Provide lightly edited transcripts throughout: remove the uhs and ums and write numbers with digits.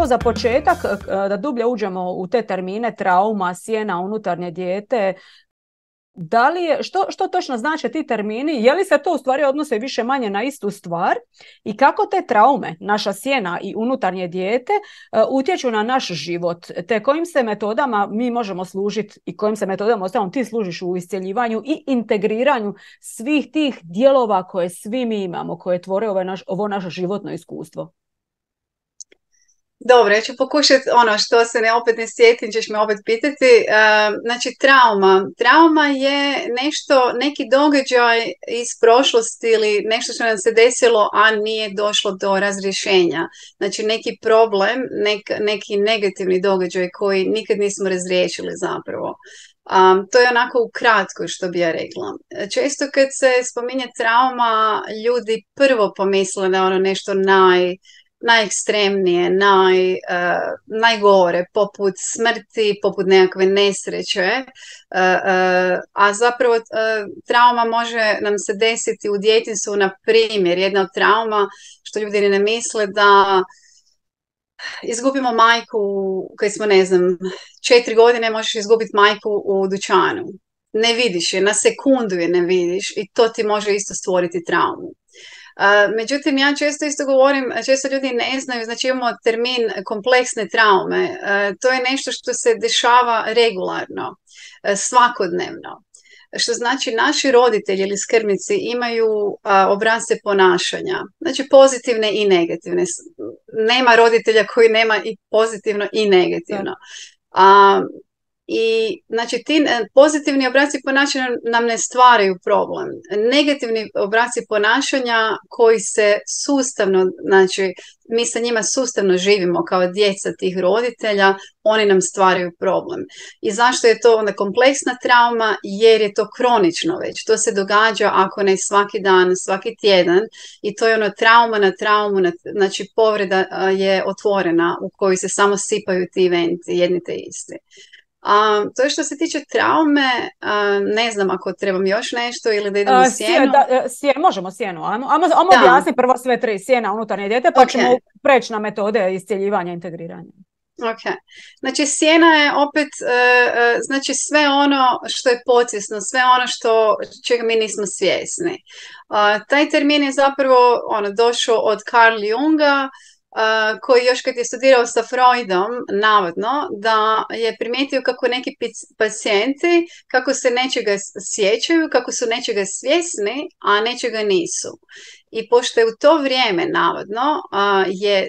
evo za početak, da dublje uđemo u te termine trauma, sjena, unutarnje dijete, da li je, što točno znače ti termini? Je li se to u stvari odnose više manje na istu stvar? I kako te traume, naša sjena i unutarnje dijete, utječu na naš život? Te kojim se metodama mi možemo služiti i kojim se metodama ostalom ti služiš u iscjeljivanju i integriranju svih tih dijelova koje svi mi imamo, koje tvore ovo naše životno iskustvo? Dobro, ja ću pokušati što se opet ne sjetim, ćeš me opet pitati. Znači, trauma je neki događaj iz prošlosti ili nešto što nam se desilo, a nije došlo do razrješenja. Znači, neki problem, neki negativni događaj koji nikad nismo razriješili zapravo. To je onako ukratko što bi ja rekla. Često kad se spominje trauma, ljudi prvo pomisle na nešto najekstremnije, najgore, poput smrti, poput nekakve nesreće, a zapravo trauma može nam se desiti u djetinjstvu. Na primjer, jedna od trauma, što ljudi ne misle, da izgubimo majku kad smo, 4 godine možeš izgubiti majku u dućanu. Ne vidiš je, na sekundu je ne vidiš i to ti može isto stvoriti traumu. Međutim, ja često isto govorim, često ljudi ne znaju, znači imamo termin kompleksne traume. To je nešto što se dešava regularno, svakodnevno. Što znači naši roditelji ili skrbnici imaju obrasce ponašanja, znači pozitivne i negativne. Nema roditelja koji nema i pozitivno i negativno. I znači ti pozitivni obrasci ponašanja nam ne stvaraju problem. Negativni obrasci ponašanja koji se sustavno, znači mi sa njima sustavno živimo kao djeca tih roditelja, oni nam stvaraju problem. I zašto je to onda kompleksna trauma? Jer je to kronično već. To se događa ako ne svaki dan, svaki tjedan i to je trauma na traumu, znači povreda je otvorena u kojoj se samo sipaju ti eventi, jedni te isti. To je što se tiče traume, ne znam ako trebam još nešto ili da idemo u sjenu. Možemo sjenu, ajmo objasniti prvo sve tri, sjena, unutarnje dijete, pa ćemo preći na metode iscjeljivanja i integriranja. Ok, znači sjena je opet znači sve ono što je podsvjesno, sve ono čega mi nismo svjesni. Taj termin je zapravo došao od Carl Junga, koji još kad je studirao sa Freudom, navodno, da je primijetio kako neki pacijenti, kako se nečega sjećaju, kako su nečega svjesni, a nečega nisu. I pošto je u to vrijeme, navodno, je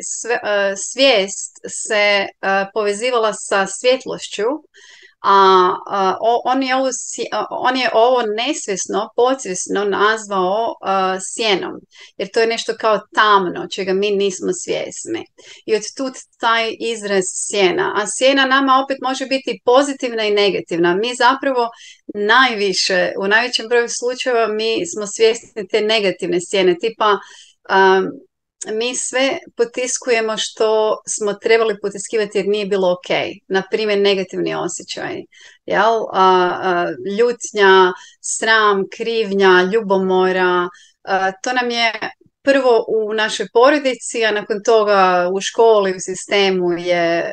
svijest se povezivala sa svjetlošću, on je ovo nesvjesno, podsvjesno nazvao sjenom, jer to je nešto kao tamno, čega mi nismo svjesni. I od tu taj izraz sjena. A sjena nama opet može biti pozitivna i negativna. Mi zapravo najviše, u najvećem broju slučajeva, mi smo svjesni te negativne sjene, tipa mi sve potiskujemo što smo trebali potiskivati jer nije bilo ok. Naprimjer, negativni osjećaj. Ljutnja, sram, krivnja, ljubomora. To nam je prvo u našoj porodici, a nakon toga u školi, u sistemu je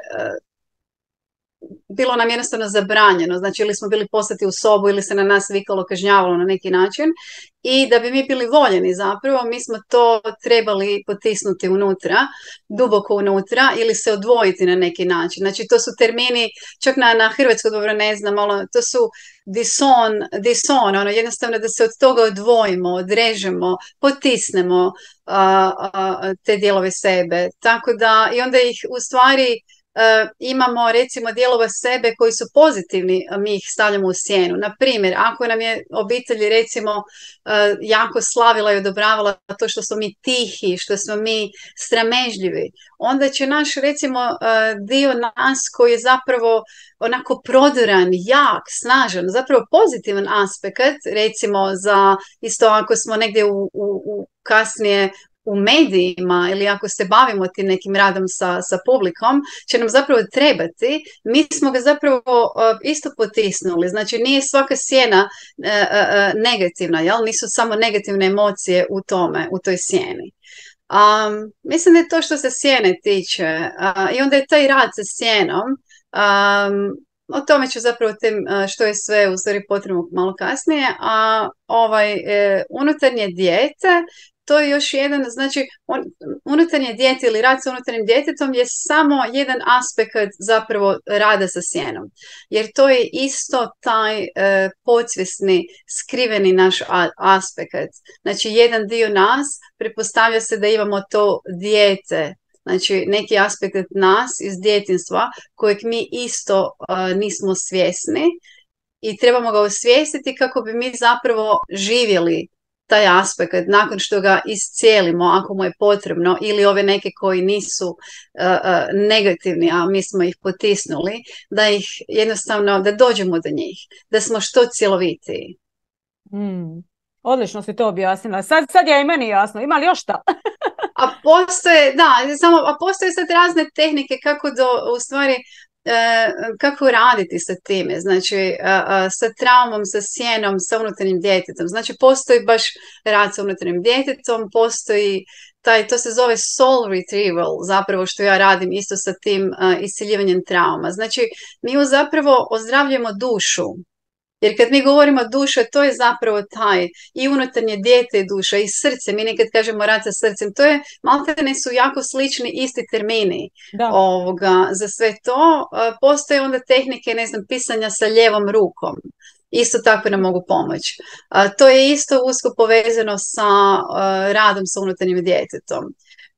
bilo nam jednostavno zabranjeno, znači ili smo bili poslati u sobu ili se na nas vikalo, kažnjavalo na neki način i da bi mi bili voljeni zapravo, mi smo to trebali potisnuti unutra, duboko unutra ili se odvojiti na neki način. Znači to su termini, čak na hrvatsko dobro ne znam, to su dison, jednostavno da se od toga odvojimo, odrežemo, potisnemo te dijelove sebe. Tako da i onda ih u stvari imamo recimo dijelova sebe koji su pozitivni, mi ih stavljamo u sjenu. Na primjer, ako nam je obitelj recimo jako slavila i odobravala to što smo mi tihi, što smo mi sramežljivi, onda će naš recimo dio nas koji je zapravo onako prodoran, jak, snažan, zapravo pozitivan aspekt, recimo za isto ako smo negdje u kasnije u medijima ili ako se bavimo tim nekim radom sa publikom, će nam zapravo trebati, mi smo ga zapravo isto potisnuli. Znači nije svaka sjena negativna, jel? Nisu samo negativne emocije u toj sjeni. Mislim da je to što se sjene tiče. I onda je taj rad sa sjenom, o tome ću zapravo što je sve u stvari potrebno malo kasnije, a unutarnje dijete, to je još jedan, znači unutarnje dijete ili rad sa unutarnjim djetetom je samo jedan aspekt zapravo rada sa sjenom. Jer to je isto taj podsvjesni, skriveni naš aspekt. Znači jedan dio nas pretpostavlja se da imamo to dijete, znači neki aspekt nas iz djetinjstva kojeg mi isto nismo svjesni i trebamo ga osvijestiti kako bi mi zapravo živjeli taj aspekt nakon što ga iscijelimo ako mu je potrebno, ili ove neke koji nisu negativni, a mi smo ih potisnuli, da ih jednostavno, da dođemo do njih, da smo što cjelovitiji. Odlično si to objasnila. Sad je i meni jasno. Ima li još šta? A postoje sad razne tehnike kako u stvari kako raditi sa time, znači sa traumom, sa sjenom, sa unutarnjim djetetom. Znači postoji baš rad sa unutarnjim djetetom, postoji to se zove soul retrieval, zapravo što ja radim isto sa tim isceljivanjem trauma. Znači mi zapravo ozdravljujemo dušu. Jer kad mi govorimo duša, to je zapravo taj i unutarnje dijete i duša i srce. Mi nekad kažemo rad sa srcem. To je, maltene su jako slični isti termini za sve to. Postoje onda tehnike, pisanja sa lijevom rukom. Isto tako nam mogu pomoći. To je isto usko povezano sa radom sa unutarnjim djetetom.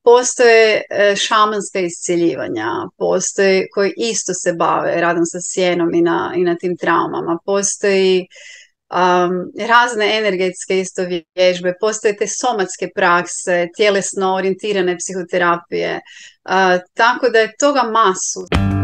Postoje šamanska iscjeljivanja, postoje koji isto se bave radom sa sjenom i na tim traumama. Postoji razne energetske isto vježbe, postoje te somatske prakse, tjelesno orijentirane psihoterapije, tako da je toga masu.